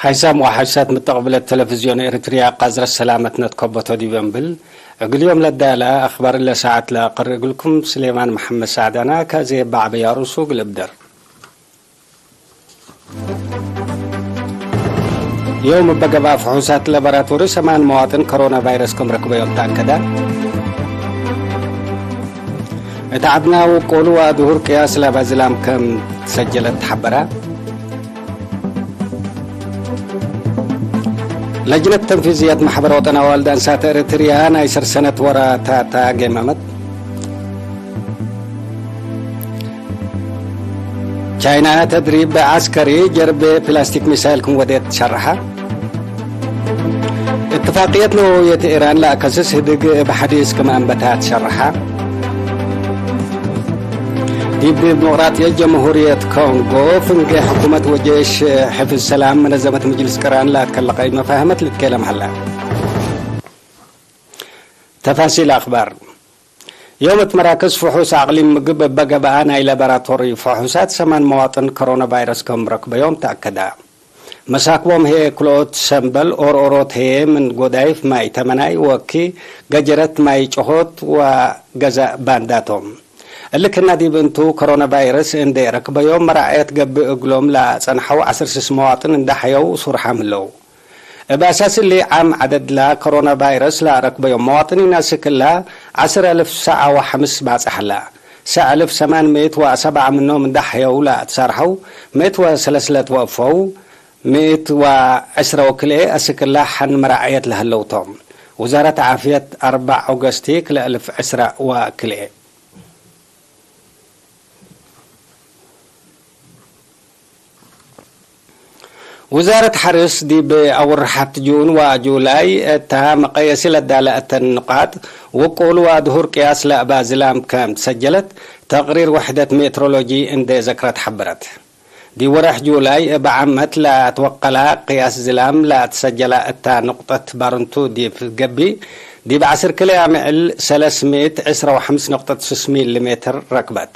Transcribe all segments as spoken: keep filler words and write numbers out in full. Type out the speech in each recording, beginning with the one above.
ሓይሳም ወሓይሳት ምተቅብለት ተለፍዝዮን ኤረትርያ፣ ቃዝረት ሰላመትነ ትከበቶ ዲብ እንብል፣ እግል ዮም ለዳለ አክባር እለ ሰዓት ለአቀርእ እግልኩም ስሌማን መሐመድ ሳዕዳና። ከዜ በዐበይ አሩሱ እግል እብደር። ዮም እበ ገብአ ፍሑሳት ለበራቶሪ ሰማን መዋጥን ኮሮና ቫይረስ ክም ረክበዮም ተአከደ። እት ዐድና ውቁሉ ወአድሁር ቅያስ ለበ ዝላም ከም ትሰጀለት ተሐበረ። ለጅነት ተንፊዝየት መሕበር ወጠን አዋልድ አንሳት ኤረትርያ ናይ ሰር ሰነት ወራታታ ገመመት። ቻይና ተድሪብ ዐስከሪ ጀርቤ ፕላስቲክ ሚሳይል ክም ወዴት ሸርሐ። እትፋቅየት ነወውየት ኢራን ለአከስስ ህድግ እብ ሐዲስ ክም አንበታት ሸርሐ። ዲብ ዲሞቅራጥየት ጀምሁርየት ኮንጎ ፍንጌ ሕኩመት ወጄሽ ሕፍዝ ሰላም መነዘመት ምጅልስ ቅራን ለአትከለቀይ መፋህመት ልትኬለም ሀላ። ተፋሲል አክባር። ዮም እት መራክዝ ፍሑስ አቅሊም ምግብ እበ ገብአ ናይ ለበራቶሪ ፍሑሳት ሰማን መዋጥን ኮሮና ቫይረስ ከም ረክበዮም ተአከደ። መሳክቦም ህዬ ክልኦት ሰምበል ኦርኦሮት ህዬ ምን ጎዳይፍ ማይ ተመናይ ወኪ ገጀረት ማይ ጭሆት ወገዘእ ባንዳቶም። እሊ ክና ዲብ እንቱ ኮሮና ቫይረስ እንዴ ረክበዮም መራዐየት ገብእ እግሎም ለአጸንሐው ዐስር ስስ መዋጥን እንዳ ሐየው ሱርሓም ህለው። እብ አሳስ እሊ፣ ዓም ዐደድ ለኮሮና ቫይረስ ለአረክበዮም መዋጥኒን አስክ እለ ዐስር አልፍ ሰዕ ወሐምስ ባጽሕ ዐለ። ሰዕ አልፍ ሰማን ምእት ወሰብዓ ምኖም እንዳ ሐየው ለአትሳርሐው፣ ምእት ወሰለስ ለትወፈው፣ ምእት ወዐስረ ወክልኤ አስክ እለ ሐን መራዐየት ለህለው ቶም። ውዛረት ዓፍየት አርበዕ ኦገስቲ ክልኤ አልፍ ዕስረ ወክልኤ። ውዛረት ሐርስ ዲብ አወርሓት ጁን ወጁላይ እታ መቀየሲ ለዳለ እተን ንቃጥ ውቁል ወአድሁር ቅያስ ለእባ ዝላም ከም ትሰጀለት ተቅሪር ወሕደት ሜትሮሎጂ እንዴ ዘክረት ሐበረት። ዲብ ወሬሕ ጁላይ እብ ዓመት ለአትወቀላ ቅያስ ዝላም ለአትሰጀላ እታ ንቁጠት ባርንቱ ዲብ ገብእ፣ ዲብ ዐስር ክልኤ አምዕል ሰለስ ምእት ዕስረ ወሐምስ ነቁጠት ስስ ሚሊ ሜትር ረክበት።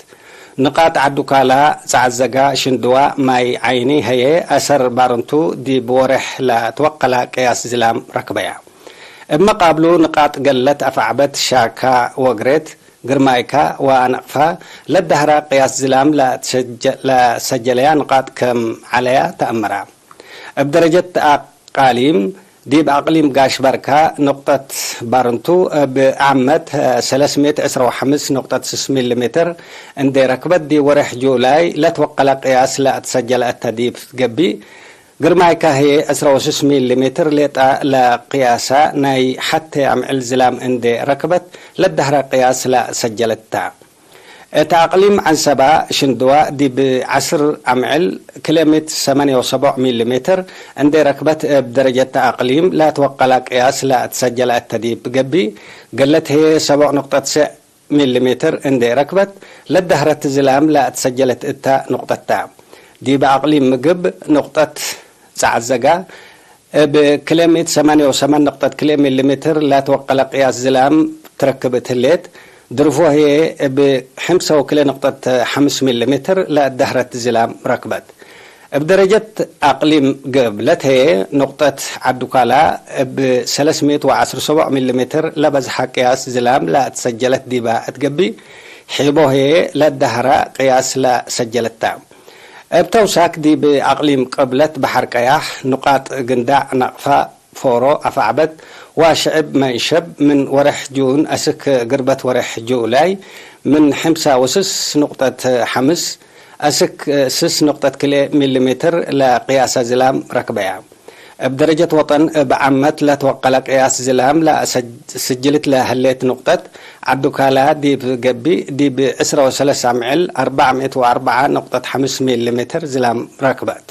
ንቃጥ ዐዱካላ፣ ጸዐዘጋ፣ ሽንድዋ፣ ማይ ዓይኒ ህዬ አሰር ባርንቱ ዲብ ወሬሕ ለአትወቀላ ቅያስ ዝላም ረክበያ። እብ መቃብሉ ንቃጥ ገለት አፍዐበት፣ ሻካ ወግሬት፣ ግርማይካ ወአነቅፋ ለዳህራ ቅያስ ዝላም ለአትሰጀ-፣ ለሰጀለያ ንቃጥ ከም ዐለያ ተአመራ። እብ ደረጀት አቃሊም፣ ዲብ አቅሊም ጋሽ በርካ ንቁጠት ባርንቱ እብ ዓመት ሰለስ ምእት ዕስረ ወሐምስ ነቁጠት ስስ ሚሊ ሜትር እንዴ ረክበት፣ ዲብ ወሬሕ ጁላይ ለትወቀለ ቅያስ ለአትሰጀለ እተ ዲብ ገብእ፣ ግርማይካ ህዬ ዕስረ ወስስ ሚሊ ሜትር ሌጣ ለቅያሳ ናይ ሐቴ አምዕል ዝላም እንዴ ረክበት፣ ለዳህረ ቅያስ ለሰጀለት ተ። እት አቅሊም ዐንሰባ ሽንድዋ ዲብ ዐስር አምዕል ክልኤ ምእት ሰማንየ ወሰቦዕ ሚሊ ሜትር እንዴ ረክበት፣ እብ ደረጀት አቅሊም ለትወቀላ ቅያስ ለአትሰጀለ እተ ዲብ ገብእ፣ ገለት ህዬ ሰቦዕ ንቁጠት ሰዕ ሚሊ ሜትር እንዴ ረክበት፣ ለዳህረት ዝላም ለአትሰጀለት እተ ንቁጠት ተ። ዲብ አቅሊም ምግብ ንቁጠት ጸዐዘጋ እብ ክልኤ ምእት ሰማንየ ወሰማን ነቁጠት ክልኤ ሚሊ ሜትር ለትወቀለ ቅያስ ዝላም ትረክብ እት ህሌት፣ ድርፎ ህዬ እብ ሕምሰ ወክልኤ ነቁጠት ሐምስ ሚሊ ሜትር ለዳህረት ዝላም ረክበት። እብ ደረጀት አቅሊም ገብለት ህዬ፣ ንቁጠት ዐዱካላ እብ ሰለስ ምእት ወዐስር ሰቦዕ ሚሊ ሜትር ለበዝሐ ቅያስ ዝላም ለአትሰጀለት ዲባ እት ገብእ፣ ሒቦ ህዬ ለዳህረ ቅያስ ለሰጀለት ተ። እብ ተውሳክ ዲብ አቅሊም ቅብለት በሐር ቀያሕ፣ ንቃጥ ግንዳዕ፣ ነቅፋ፣ ፎሮ፣ አፍዐበት ወሽዕብ መንሸብ ምን ወሬሕ ጁን አስክ ግርበት ወሬሕ ጁላይ ምን ሕምሳ ወስስ ንቁጠት ሐምስ አስክ ስስ ንቁጠት ክልኤ ሚሊ ሜትር ለቅያሰ ዝላም ረክበያ። እብ ደረጀት ወጠን እብ ዓመት ለትወቀለ ቅያስ ዝላም ለአሰጅልት ለህሌት ንቁጠት ዐዱካላ ዲብ ገብእ፣ ዲብ ዕስረ ወሰለስ አምዕል አርበዕ ምእት ወአርበዓ ነቁጠት ሐምስ ሚሊ ሜትር ዝላም ረክበት።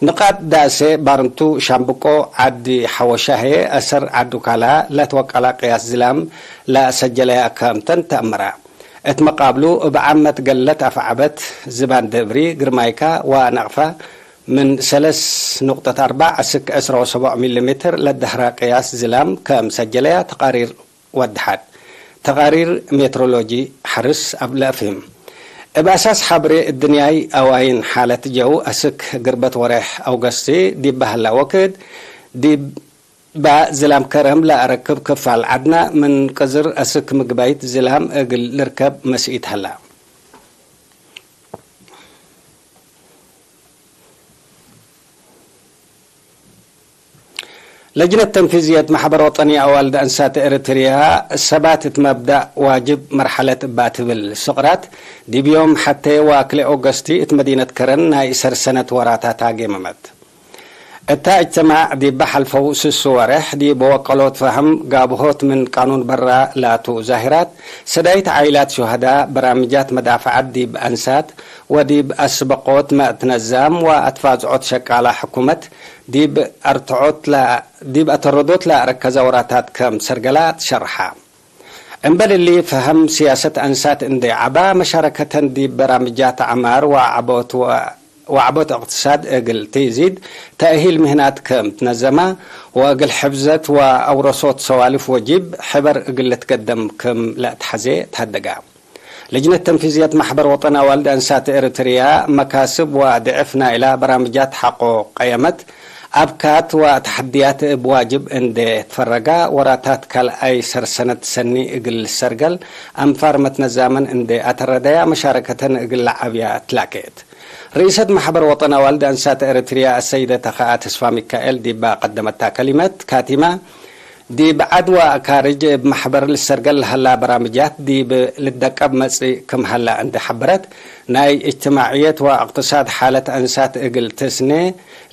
ንቃጥ ዳሴ ባርንቱ ሻምብቆ ዐዲ ሐወሻ ህዬ አሰር ዐዱካላ ለትወቀላ ቅያስ ዝላም ለአሰጀለያ ከምተን ተአመራ። እት መቃብሉ እብ ዓመት ገለት አፍዐበት ዝባን ደብሪ፣ ግርማይካ ወነቅፋ ምን ሰለስ ንቁጠት አርበዕ አስክ ዕስረ ወሰቦዕ ሚሊ ሜትር ለዳህራ ቅያስ ዝላም ከም ሰጀለያ ተቃሪር ወደሓት። ተቃሪር ሜትሮሎጂ ሐርስ አብ ለአፍህም። እብ አሳስ ሐብሬ እድንያይ አዋይን ሓለት ጀው አስክ ግርበት ወሬሕ አውገስቲ ዲብ በሀላ ወክድ፣ ዲብ ባ ዝላም ከረም ለአረክብ ክፋል ዐድና ምን ቅዝር አስክ ምግባይት ዝላም እግል ልርከብ መስኢት ሀላ። ለጅነት ተንፊዝየት መሕበር ወጠኒ አዋልድ አንሳት ኤረትርያ፣ ሰባት እት መብዳእ ዋጅብ መርሐለት እባ ትብል ስቅራት፣ ዲብ ዮም ሐቴ ወክልኤ ኦገስቲ እት መዲነት ከረን ናይ እሰር ሰነት ወራታት አጌመመት። እታ እጅትማዕ ዲብ ሐልፈው ስሱ ወሬሕ ዲብ ወቀሎት ፈህም ጋብሆት ምን ቃኑን በራ ላቱ ዛሂራት፣ ሰዳይት ዓኢላት ሹሀዳ፣ በራምጃት መዳፈዐት ዲብ አንሳት፣ ወዲብ አስበቆት መእትነዛም ወአትፋዝዖት ሸቃላ ሕኩመት ዲብ አርትዖት ለ-፣ ዲብ አተረዶት ለአረከዘ ወራታት ከም ሰርገላ ትሸርሐ። እምበል እሊ፣ ፈሀም ሲያሰት አንሳት እንዴ ዐባ፣ መሻረከተን ዲብ በራምጃት ዐማር ወዐቦት ወ-፣ ወዐቦት እቅትሳድ እግል ትዚድ፣ ተእሂል ምህናት ከም ትነዘማ ወእግል ሕፍዘት ወአውረሶት ሰዋልፍ ወጂብ ሕበር እግል ልትገደም ክም ለአትሐዜ ተሀደጋ። ልጅነት ተንፊዝየት መሕበር ወጠን አዋልድ አንሳት ኤረትርያ፣ መካስብ ወድዕፍ ናይላ በራምጃት ሐቆ ቀየመት፣ አብካት ወተሐድያት እብ ዋጅብ እንዴ ትፈረጋ፣ ወራታት ካልኣይ ሰርሰነት ሰኒ እግል ልሰርገል አንፋር መትነዛመን እንዴ አተረደያ፣ መሻረከተን እግል ለዓብያ ትላኬት። ርኢሰት መሕበር ወጠን አዋልድ አንሳት ኤረትርያ አሰይደ ተኸአ ተስፋ ሚካኤል ዲባ ቀደመታ ከሊመት ካቲማ፣ ዲብ ዐድ ወአካርጅ እብ መሕበር ልሰርገል ለሀላ በራምጃት ዲብ ልደቀብ መጽእ ክም ሀላ እንዴ ሐበረት፣ ናይ እጅትማዕየት ወእቅትሳድ ሓለት አንሳት እግል ትስኔ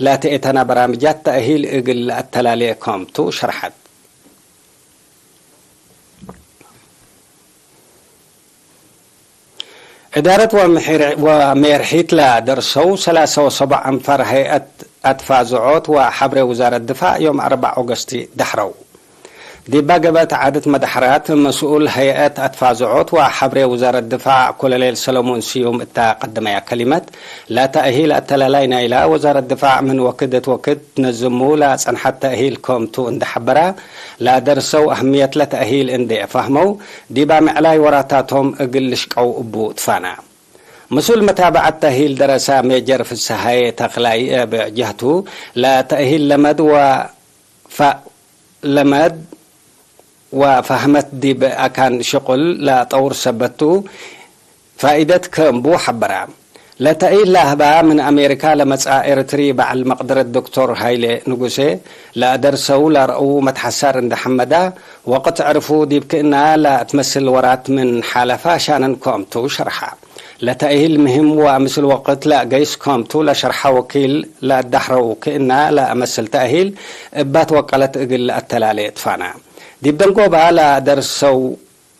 ለትእተና በራምጃት ተእሂል እግል ለአተላሌ ከምቱ ሸርሐት። እዳረት ወምሒር-፣ ወሜርሒት ለደርሰው ሰላሳ ወሰቡዕ አንፋር ሀይአት አትፋዝዖት ወሐብሬ ውዛረት ድፋዕ ዮም አርበዕ ኦገስቲ ደሕረው። ዲባ ገበት ዐደት መደሐራት መስኡል ሀይአት አትፋዝዖት ወሐብሬ ውዛረት ድፋዕ ኮሎኔል ሰለሞን ስዩም እታ ቀደመያ ከሊመት፣ ለተእሂል አተላላይ ናይላ ወዛረት ድፋዕ ምን ወክድ እት ወክድ ትነዝሙ ለጸንሐት ተእሂል ከምቱ እንዴ ሐበራ፣ ለደርሰው አህምየት ለተእሂል እንዴ ፈህመው፣ ዲብ አምዕላይ ወራታቶም እግል ልሽቀው እቡ ትፋና። ምስኡል መታብዐት ተእሂል ደረሳ ሜጀር ፍስሃዬ ተክላይ እብ ጀህቱ፣ ለተእሂል ለመድ ወ-፣ ፈ-፣ ለመድ ወፈህመት ዲብ አካን ሽቁል ለጠውር ሰበት ቱ፣ ፋኢደት ክም ቡ ሐበራ። ለተእሂል ለአህባ ምን አሜሪካ ለመጽአ ኤረትሪ በዐል መቅደረት ዶክቶር ሃይሌ ንጉሴ፣ ለአደርሰው ለረአው መትሐሳር እንዴ ሐመዳ፣ ወቅት ዕርፉ ዲብ ክእና ለትመስል ወራት ምን ሓለፋ ሻነን ክምቱ ሸርሐ። ለተእሂል ምህም ወምስል ወቅት ለአገይስ ክምቱ ለሸርሐ ወኪል ለአዳሕረው ክእና ለአመስል ተእሂል እባት ወቀለት እግል ለአተላሌ ትፋና። ዲብ ደንጎባ ለአደርሰው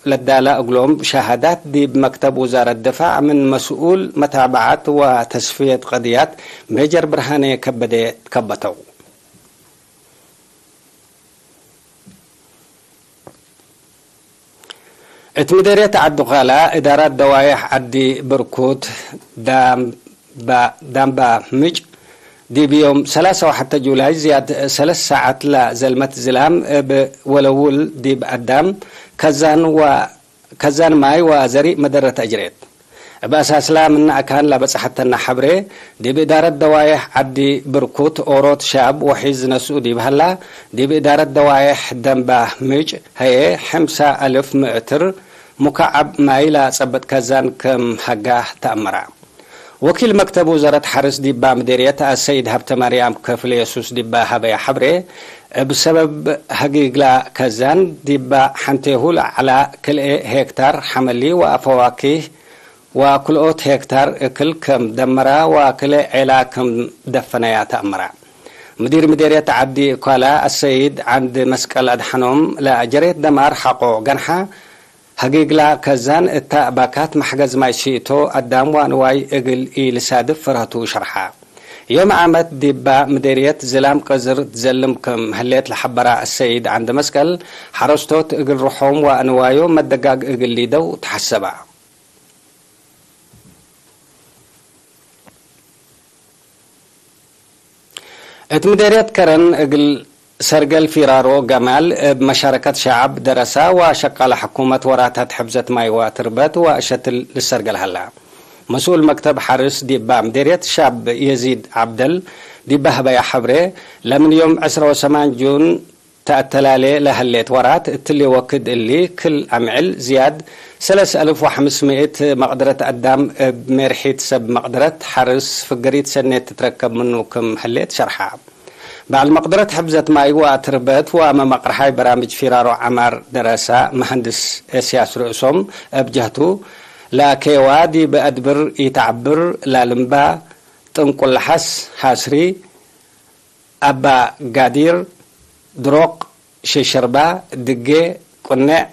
ለዳላ እግሎም ሸሃዳት ዲብ መክተብ ውዛረት ድፋዕ ምን መስኡል መታብዐት ወተስፍየት ቀድያት ሜጀር ብርሃኔ ከበዴ ትከበተው። እት ምዴርየት ዐዲ ኳላ እዳራት ደዋዬሕ ዐዲ ብርኩት ዳምባ፣ ዳምባ ምጭ ዲብ ዮም ሰላሳ ወሐተ ጁላይ ዝያድ ሰለስ ሳዐት ለዘልመት ዝላም እብ ወለውል ዲብ አዳም ከዛን ወ-፣ ከዛን ማይ ወዘሪእ መደረት አጅሬት። እብ አሳስላ ምነ አካን ለበጽሐተነ ሐብሬ፣ ዲብ እዳረት ደዋዬሕ ዐዲ ብርኩት ኦሮት ሻብ ወሒዝ ነስኡ ዲብ ሀላ፣ ዲብ እዳረት ደዋዬሕ ደንባ ምጭ ሀዬ፣ ሕምሳ አልፍ ምእትር ሙካዐብ ማይ ለጸብጥ ከዛን ክም ሀጋ ተአመራ። ወኪል መክተብ ውዘረት ሐርስ ዲባ ምዴርየት አሰይድ ሀብተማርያም ከፍለ የሱስ ዲባ ሀበያ ሐብሬ፣ እብ ሰበብ ሀጊግላ ከዛን ዲባ ሐንቴሁ ለዐላ ክልኤ ሄክታር ሐመሊ ወአፈዋኪህ ወክልኦት ሄክታር እክል ክም ደመራ ወክልኤ ዔላ ክም ደፈነያ ተአመራ። ምዲር ምዴርየት ዐዲ እኳላ አሰይድ ዐንድ መስቀል አድሐኖም ለአጀሬት ደማር ሐቆ ገንሐ፣ ሀጊግላ ከዛን እታ ባካት መሕገዝ ማይ ሺእቶ አዳም ወአንዋይ እግል ኢልሳድፍ ፍርሀቱ ሸርሐ። ዮም ዓመት ዲባ ምዴርየት ዝላም ቅዝር ትዘልም ክም ህሌት ለሐበራ አሰይድ ዐንድ መስቀል፣ ሐረስቶት እግል ርሖም ወአንዋዮም መደጋግ እግል ሊደው ተሐሰባ። እት ምዴርየት ከረን እግል ሰርገል ፊራሮ ገማል እብ መሻረከት ሸዐብ ደረሳ ወሸቃለ ሕኩመት ወራታት ሕፍዘት ማይ ወትርበት ወእሸትል ልሰርገል ሀላ። መስኡል መክተብ ሐርስ ዲባ ምዴርየት ሻብ የዚድ ዐብደል ዲብ በሀበያ ሐብሬ፣ ለምን ዮም ዕስራ ወሰማን ጁን ተአተላሌ ለሀሌት ወራት፣ እትሊ ወክድ እሊ ክል አምዕል ዝያድ ሰለስ አልፍ ወሐምስ ምእት መቅደረት አዳም እብ ሜርሒት ሰብ መቅደረት ሐርስ ፍግሪት ሰኔት ትትረከብ ምኑ ክም ህሌት ሸርሐ። በዐል መቅደረት ሕፍዘት ማይ ወአትርበት ወመመቅርሓይ በራምጅ ፊራሮ ዐማር ደረሳ፣ መሀንድስ እስያስ ርእሶም እብ ጀህቱ፣ ለአኬዋ ዲብ አድብር ኢተዐብር ላልምባ፣ ጥንቁል ለሐስ፣ ሐስሪ፣ አባ ጋዲር፣ ድሮቅ፣ ሽሽርባ፣ ድጌ፣ ቁኔዕ፣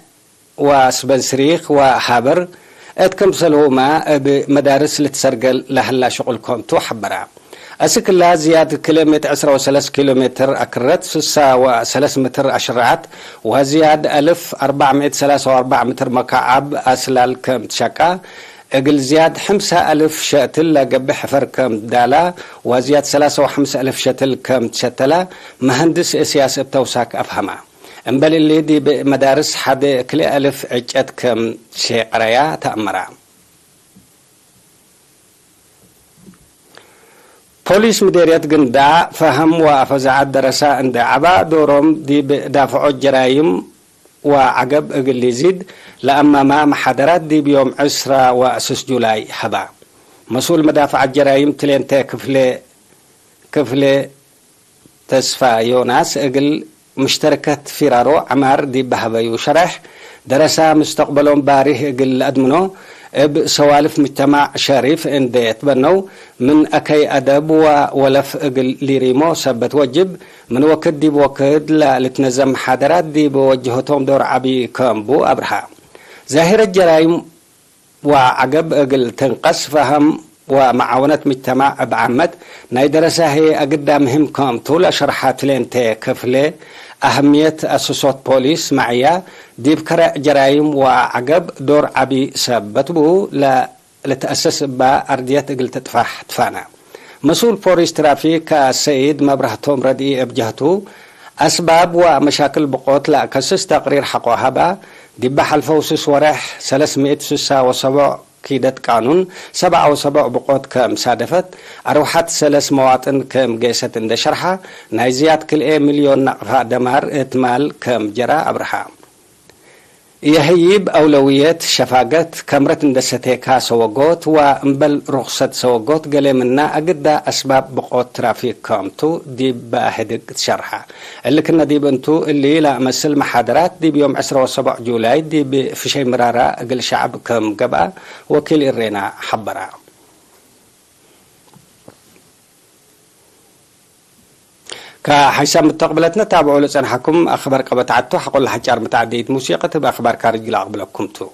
ወስበንስሪክ ወሃበር እት ክምሰልሁመ እብ መዳርስ ልትሰርገል ለሀላ ሽቁል ክምቱ ሐበረ። አስክ እላ ዝያድ ክልኤ ምእት ዕስራ ወሰለስ ኪሎ ሜትር አክረት፣ ስሳ ወሰለስ ምትር አሽረዐት ወዝያድ አልፍ አርበዕ ምእት ሰላሳ ወአርበዕ ምትር መካዐብ አስላል ክም ትሸቃ፣ እግል ዝያድ ሕምሳ አልፍ ሸትል ለገብእ ሕፈር ክም ዳላ ወዝያድ ሰላሳ ወሐምስ አልፍ ሸትል ክም ትሸተላ መሀንድስ እስያስ እብ ተውሳክ አፍሀማ። እምበል እሊ፣ ዲብ መዳርስ ሐደ ክልኤ አልፍ ዕጨት ክም ሼቀረያ ተአመራ። ፖሊስ ምዴርየት ግንዳዕ ፈሀም ወአፈዛዐት ደረሳ እንዴ ዐባ፣ ዶሮም ዲብ ዳፍዖት ጀራይም ወዐገብ እግል ሊዚድ ለአማማ መሓደራት ዲብ ዮም ዕስራ ወስስ ጁላይ ሀባ። መስኡል መዳፍዐት ጀራይም ትሌንተ ክፍሌ፣ ክፍሌ ተስፋ ዮናስ እግል ሙሽተረከት ፊራሮ ዐማር ዲብ በሀበዩ ሸሬሕ፣ ደረሳ ሙስተቅበሎም ባሪህ እግል ለአድምኖ፣ እብ ሰዋልፍ ሙጅተማዕ ሸሪፍ እንዴ ትበነው፣ ምን አከይ አደብ ወወለፍ እግል ሊሪሞ ሰበት ወጅብ፣ ምን ወክድ ዲብ ወክድ ለልትነዘም መሓደራት ዲብ ወጀሀቶም ዶር ዐቢ ከም ቡ አብርሃ። ዛሂረት ጀራይም ወዐገብ እግል ትንቀስ፣ ፈሀም ወመዓወነት ምጅተማዕ እብ ዓመት ናይ ደረሳ ህዬ አግዳ ምህም ክምቱ ለሸርሐ ትሌንቴ ክፍሌ፣ አህምየት አስሶት ፖሊስ መዕያ፣ ዲብ ከረዕ ጀራይም ወዐገብ ዶር ዐቢ ሰበት ቡ፣ ለልትአሰስ እባ አርድየት እግል ትጥፋሕ ትፋነ። መስኡል ፖሊስ ትራፊክ አሰይድ መብራህቶም ረድኢ እብ ጀህቱ፣ አስባብ ወመሻክል ብቆት ለአከስስ ተቅሪር ሐቆ ሀባ። ዲበ ሐልፈው ስስ ወሬሕ ሰለስ ምእት ስሳ ወሰቦዕ ኪደት ቃኑን ሰብዓ ወሰቦዕ ብቆት ከም ሳደፈት፣ አርወሐት ሰለስ መዋጥን ከም ጌሰት እንደ ሸርሐ፣ ናይ ዝያድ ክልኤ ሚልዮን ናቅፋ ደማር እት ማል ከም ጀራ አብርሃ። የህይብ አውለውየት ሸፋገት፣ ከምረት እንደ ሰቴካ ሰወጎት ወእምበል ሩክሰት ሰወጎት፣ ገሌ ምና አግዳ አስባብ ብቆት ትራፊክ ከምቱ ዲብ በአህድግ ትሸርሐ። እሊ ክነ ዲብ እንቱ፣ እሊ ለአመስል መሓደራት ዲብ ዮም ዕስራ ወሰቦዕ ጁላይ ዲብ ፍሸይ ምራራ እግል ሸዐብ ከም ገብአ ወኪል እሬና ሐበራ። ከሐይሳም ምተቅብለትነ ታብዑ ለጸንሐኩም አክበር ቀበት ዐቱ፣ ሐቆ ለሐጫር መትዐደይት ሙሲቀት እብ አክባር ካርጅ ለአቅብለኩም ቱ።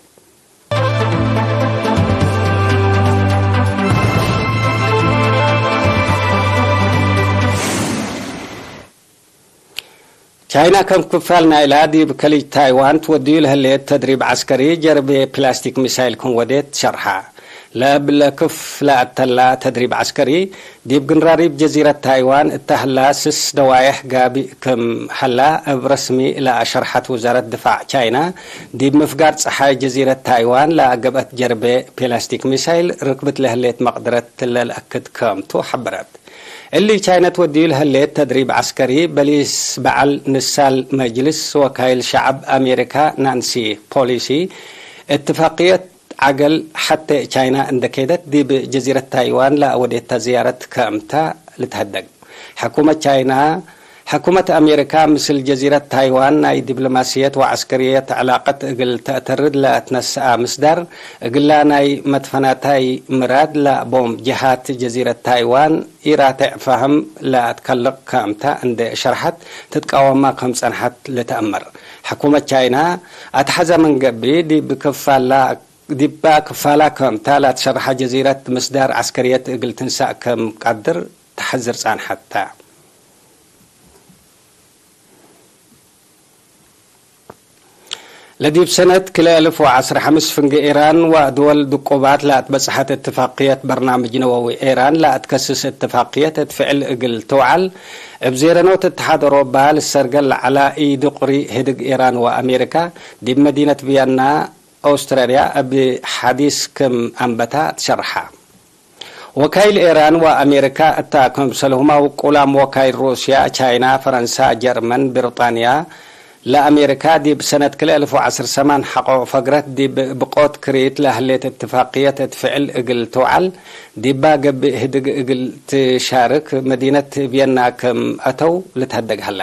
ቻይና ከም ክፋል ናይላ ዲብ ከሊጅ ታይዋን ትወድዩ ለህሌት ተድሪብ ዐስከሪ ጀርቤ ፕላስቲክ ሚሳይል ክም ወዴት ሸርሐ። ለእብ ለክፍ ለአተላ ተድሪብ ዐስከሪ ዲብ ግንራሪብ ጀዚረት ታይዋን እተ ህላ ስስ ደዋየሕ ጋብእ ክም ሀላ እብ ረስሚ ለአሸርሐት ውዛረት ድፋዕ ቻይና፣ ዲብ ምፍጋር ጸሓይ ጀዚረት ታይዋን ለአገብአት ጀርቤ ፕላስቲክ ሚሳይል ርክብት ለህሌት መቅደረት ለልአክድ ክምቱ ሐበረት። እሊ ቻይነት ወድዩ ለህሌት ተድሪብ ዐስከሪ፣ በሊስ በዐል ንሳል መጅልስ ወካይል ሸዐብ አሜሪካ ናንሲ ፖሊሲ፣ እትፋቅየት ዐገል ሐቴ ቻይና እንደ ኬደት፣ ዲብ ጀዚረት ታይዋን ለአወዴታ ዝያረት ከምታ ልትሀደግ። ሕኩመት ቻይና፣ ሕኩመት አሜሪካ ምስል ጀዚረት ታይዋን ናይ ዲፕሎማስየት ወዐስከርየት ዕላቀት እግል ተአተርድ ለአትነስአ ምስዳር፣ እግላ ናይ መትፈናታይ ምራድ ለአቦም ጀሃት ጀዚረት ታይዋን ኢራቴዕ ፈሀም ለአትከልቅ ከምታ እንዴ ሸርሐት፣ ትትቃወማ ከም ጸንሐት ልትአመር። ሕኩመት ቻይና፣ አትሐዘ ምን ገብእ፣ ዲብ ክፋላ፣ ዲባ ክፋላ ከምታ ለአትሸርሐ ጀዚረት ምስዳር ዐስከርየት እግል ትንሳእ ከም ቀድር ተሐዝር ጸንሐት ተ። ለዲብ ሰነት ክልኤ አልፍ ወዐስር ሐምስ ፍንጌ ኢራን ወድወል ድቁባት ለአትበጽሐት እትፋቅየት በርናምጅ ነወዊ ኢራን ለአትከስስ እትፋቅየት እት ፍዕል እግል ትውዓል፣ እብ ዜረኖት እትሓድ ኦሮባ ልሰርገል ለዐላ ኢዱቅሪ ህድግ ኢራን ወአሜሪካ ዲብ መዲነት ቪየና ኦስትራልያ እብ ሐዲስ ክም አንበታ ትሸርሐ። ወካይል ኤራን ወአሜሪካ እታ ክምሰልሁመ ውቁላም ወካይል ሩስያ፣ ቻይና፣ ፈረንሳ፣ ጀርመን፣ ብርጣንያ፣ ለአሜሪካ ዲብ ሰነት ክልኤ አልፍ ወዐስር ሰማን ሐቆ ፈግረት ዲብ ብቆት ክሪት ለህሌት እትፋቅየት እት ፍዕል እግል ትውዓል ዲባ ገብእ ህድግ እግል ትሻርክ መዲነት ቪየና ክም አተው ልትሀደግ ሀለ።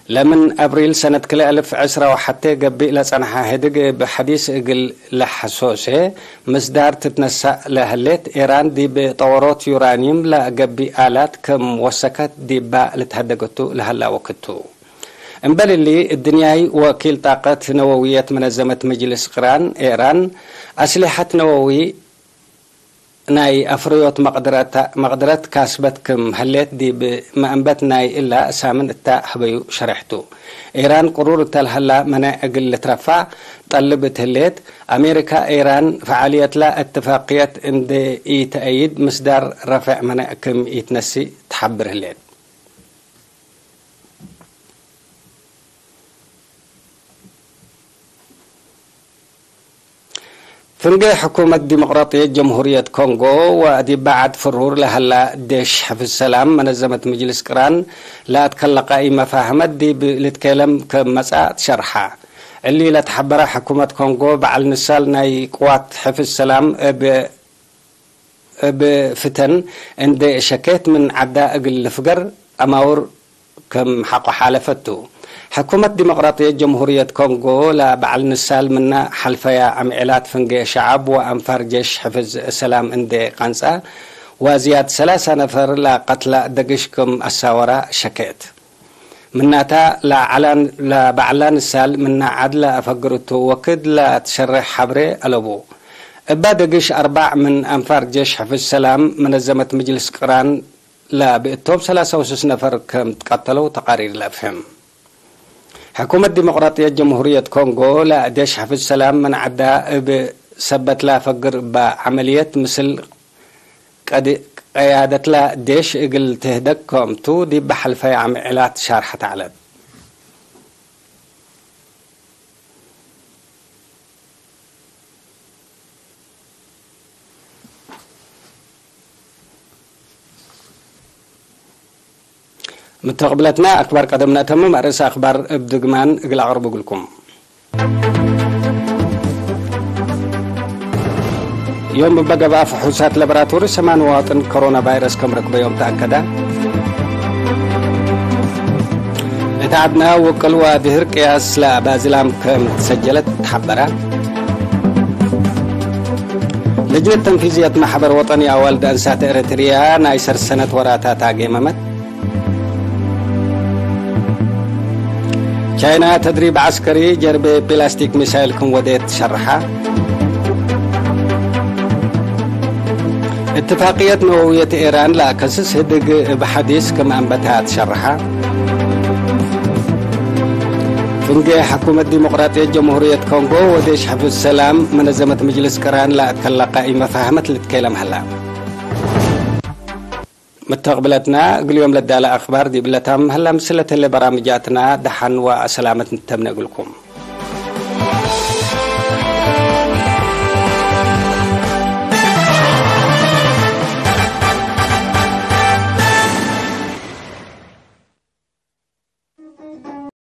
ለምን አብሪል ሰነት ክልኤ አልፍ ዕስራ ወሐቴ ገብእ ለጸንሐ ህድግ እብ ሐዲስ እግል ለሐሶሴ ምስዳር ትትነሳእ ለህሌት፣ ኤራን ዲብ ጠወሮት ዩራኒም ለገብእ አላት ክም ወሰከት ዲባ ልትሀደገቱ ለሀላ ወክቱ። እምበል እሊ፣ እድንያይ ወኪል ጣቀት ነወውየት መነዘመት መጅልስ ቅራን ኤራን፣ አስሊሐት ነወዊ ናይ አፍርዮት መቅድረታ-፣ መቅድረት ካስበት ክም ህሌት ዲብ መአንበት ናይ እላ ሳምን እታ ህበዩ ሸሬሕ ቱ። ኤራን ቅሩር እተ ለሀላ መነዕ እግል ልትረፋዕ ጠልብ እት ህሌት፣ አሜሪካ ኤራን ፈዓልየትላ እትፋቅየት እንዴ ኢተአይድ ምስዳር ረፈዕ መነዕ ክም ኢትነስእ ተሐብር ህሌት። ፍንጌ ሕኩመት ዲሞቅራጥየት ጀምሁርየት ኮንጎ ወዲብ በዐድ ፍሩር ለሀላ ዴሽ ሕፍዝ ሰላም መነዘመት ምጅልስ ቅራን ለአትከለቀ ኢመፋህመት ዲብ ልትኬለም ክም መጽአ ትሸርሐ። እሊ ለተሐበረ ሕኩመት ኮንጎ በዐል ንሳል ናይ ቅዋት ሕፍዝ ሰላም እብ እብ ፍተን እንዴ ሸኬት ምን ዐዳ እግል ልፍገር አማውር ክም ሐቆ ሓለፈት ቱ። ሕኩመት ዲሞቅራጥየት ጀምሁርየት ኮንጎ ለበዐል ንሳል ምና ሐልፈያ አምዔላት ፍንጌ ሸዐብ ወአንፋር ጄሽ ሕፍዝ ሰላም እንዴ ቀንጸ፣ ወዝያድ ሰላሳ ነፈር ለቀትለ ደግሽ ክም አሳወራ ሸኬት። ምናተ፣ ለዐላን-፣ ለበዐላ ንሳል ምነ ዐድ ለአፈግር እቱ ወክድ ለትሸሬሕ ሐብሬ አለቡ። እበ ደግሽ አርባዕ ምን አንፋር ጄሽ ሕፍዝ ሰላም መነዘመት ምጅልስ ቅራን ለብእቶም ሰላሳ ወስስ ነፈር ከም ትቀተለው ተቃሪር ለአፍህም። ሕኩመት ዲሞቅራጥየት ጀምሁርየት ኮንጎ ለዴሽ ሕፍዝ ሰላም ምን ዐዳ እብ ሰበት ለአፈግር እበ ዐመልየት ምስል ቀድ-፣ ቀያደትለ ዴሽ እግል ትህደግ ክምቱ ዲብ ሐልፈየ አምዔላት ሻርሐት ዐለት። ምተቅብለትና አክባር ቀደም ነአተምም፣ አርእስ አክባር እብ ድግማን እግል አቅርቡ እግልኩም። ዮም እበ ገብአ ፍሑሳት ለብራቶሪ ሰማን መዋጥን ኮሮና ቫይረስ ከም ረክበዮም ተአከደ። እት ዐድነ ውቅል ወድህር ቅያስ ለባዝላም ከም ተሰጀለት ተሐበረ። ለጅነት ተንፊዝየት ማሕበር ወጠኒ አዋልድ አንሳት ኤረትርያ ናይ ሰር ሰነት ወራታ ታጌመመት። ቻይና ተድሪብ ዐስከሪ ጀርቤ ፕላስቲክ ሚሳይል ክም ወዴት ሸርሐ። እትፋቅየት ነወውየት ኤራን ለአከስስ ህድግ እብ ሐዲስ ክም አንበታ ትሸርሐ። ፍንጌ ሕኩመት ዲሞቅራጥየት ጀምሁርየት ኮንጎ ወዴሽ ሕፍዝ ሰላም መነዘመት ምጅልስ ቅራን ለአትከለቀ ኢመፋህመት ልትኬለም ሀላ። መተቅብለትና እግል ዮም ለዳለ አክባር ዲብለ ታምም ሀላ። ምስለት ህለ በራምጃትና ደሐን ወሰላመት ንተምነ እግልኩም።